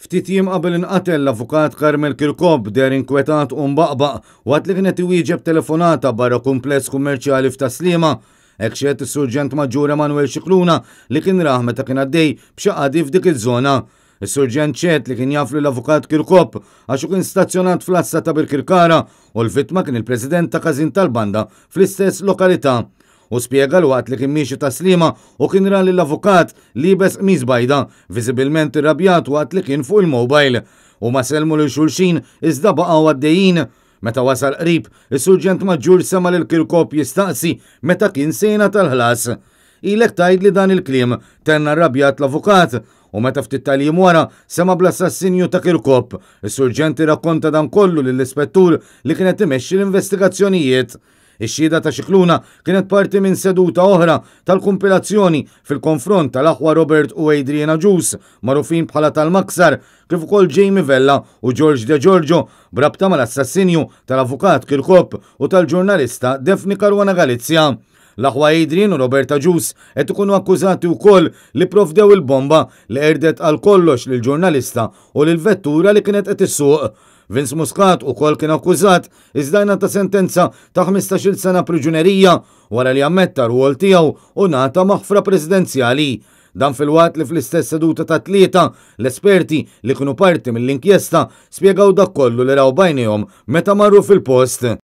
Ftit jiem qabel inqatel l-Avukat Carmel Kirkop deher inkwetat u mbaqbaq waqt li kien qed iwieġeb telefonata barra kumpless kummerċjali f'Tas-Sliema. Hekk xehed is-Surġent Maġġur Emanuel Scicluna li kien rah meta kien għaddej b'xi qadi f'dik iż-żona. Is-Surġent xehed li kien jaf lill-Avukat Kirkop għax hu kien stazzjonat fl-għassa ta' Birkirkara u l-vittma kien il-President ta' każin tal-banda fl-istess lokalità. Hu spjega li waqt li kien miexi Tas-Sliema hu kien ra lill-avukat liebes qmis bajda, viżibilment irrabjat waqt li kien fuq il-mobile. Huma sellmu lil xulxin iżda baqgħu għaddejjin. Meta wasal qrib, is-Surġent Maġġur sema' lil Kirkop jistaqsi meta kien se jingħata l-ħlas. Ilek tgħidli dan il-kliem, tenna rrabjat l-avukat. U meta ftit tal-jiem wara sema' bl-assassinju ta' Kirkop, is-Surġent irrakkonta dan kollu lill-Ispettur li kien qed imexxi l-investigazzjonijiet. Ix-xhieda ta' Scicluna kienet parti minn seduta oħra tal-kumpilazzjoni fil-konfront tal-aħwa Robert u Adrian Agius, magħrufin bħala tal-Maksar, kif ukoll Jamie Vella u George De Giorgio b'rabta mal-assassinju tal-Avukat Kirkop u tal-ġurnalista Daphne Caruana Galizia. L-aħwa Adrian u Robert Agius qed ikunu akkużati wkoll li pprovdew il-bomba li qerdet għal kollox lill-ġurnalista u lill-vettura li kienet qed issuq. Vince Muscat ukoll kien akkużat iżda ngħata sentenza ta' 15-il sena priġunerija wara li ammetta r-rwol tiegħu u ngħata maħfra presidenzjali. Dan filwaqt li fl-istess seduta tat-Tlieta, l-esperti li kienu parti mill-inkjesta spjegaw dak kollu li raw b'għajnejhom meta marru fil-post.